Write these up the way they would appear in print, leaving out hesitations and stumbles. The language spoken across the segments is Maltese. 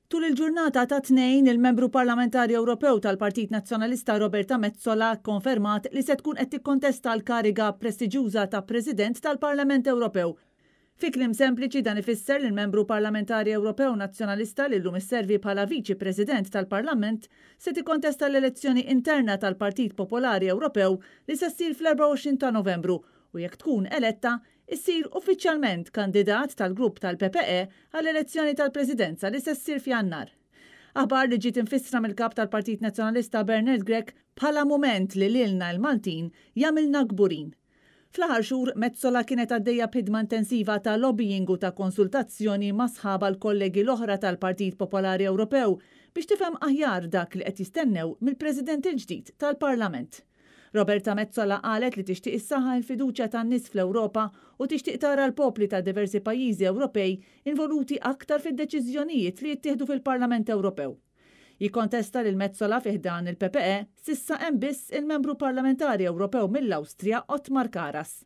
Tul il-ġurnata tat-Tnejn, il-Membru Parlamentari Ewropew tal-Partit Nazzjonalista Roberta Metsola kkonfermat li se tkun qed tikkontesta l-kariga prestiġjuża ta' President tal-Parlament Ewropew. Fi kliem sempliċi dan ifisser li l-Membru Parlamentari Ewropew Nazzjonalista li llum isservi bħala Viċi President tal-Parlament se tikkontesta l-elezzjoni interna tal-Partit Popolari Ewropew li se ssir fl-24 ta' Novembru u jekk tkun eletta issir uffiċjalment kandidat tal-grupp tal-PPE għall-elezzjoni tal-Presidenza li se ssir f'Jannar. Aħbar li ġiet imfissra mill-Kap tal-Partit Nazzjonalista Bernard Grech bħala mument li lilna l-Maltin jagħmilna kburin. Fl-aħħar xhur, Metsola kienet għaddejja b'ħidma intensiva ta' lobbying u ta' konsultazzjoni ma' sħabha l-kollegi l-oħra tal-Partit Popolari Ewropew biex tifhem aħjar dak li qed jistennew mill-President il-ġdid tal-Parlament. Roberta Metsola qalet li tixtieq issaħħaħ il-fiduċja tan-nies fl-Ewropa u tixtieq tara l-popli ta' diversi pajjiżi Ewropej involuti aktar fid-deċiżjonijiet li jittieħdu fil-Parlament Ewropew. Jikkontesta lil Metsola fi ħdan il-PPE s'issa hemm biss il-Membru Parlamentari Ewropew mill-Awstrija Othmar Karas.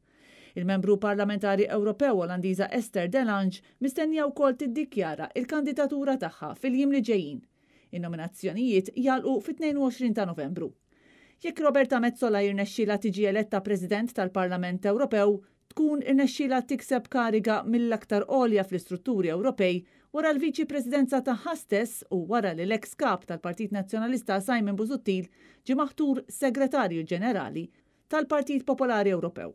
Il-Membru Parlamentari Ewropew Olandiża Esther de Lange mistennija wkoll tiddikjara l-kandidatura tagħha fil-jiem li ġejjin. In-nominazzjonijiet jagħlqu fit-22 ta' Novembru. Jekk Roberta Metsola jirnexxielha tiġi eletta President tal-Parlament Ewropew, tkun irnexxielha tikseb kariga mill-aktar għolja fl-istrutturi Ewropej wara l-Viċi Presidenza tagħha stess u wara li l-eks Kap tal-Partit Nazzjonalista Simon Busuttil ġie maħtur Segretarju Ġenerali tal-Partit Popolari Ewropew.